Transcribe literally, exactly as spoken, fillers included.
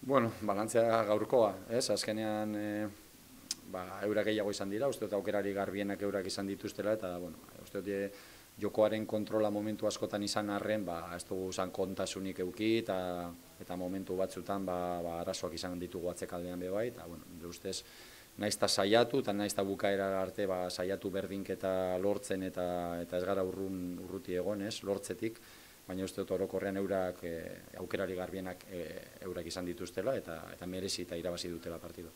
Bueno, balantzea gaurkoa, ez? Azkenean, e, ba, eurak gehiago izan dira, uste dut aukerari garbienak eurak izan dituztela, eta, bueno, uste dut e, jokoaren kontrola momentu askotan izan arren, ba, ez dugu izan kontasunik euki, eta, eta momentu batzutan, ba, ba, arazoak izan ditugu atzekaldean be bai, eta, bueno, nire ustez, naizta saiatu, eta naizta bukaera arte, ba, saiatu berdinketa lortzen, eta, eta ez gara urrun, urruti egon, ez, lortzetik, baina uste dut orokorrean eurak e, aukerari garbienak e, eurak izan dituztela eta eta merezi eta irabazi dutela partidu.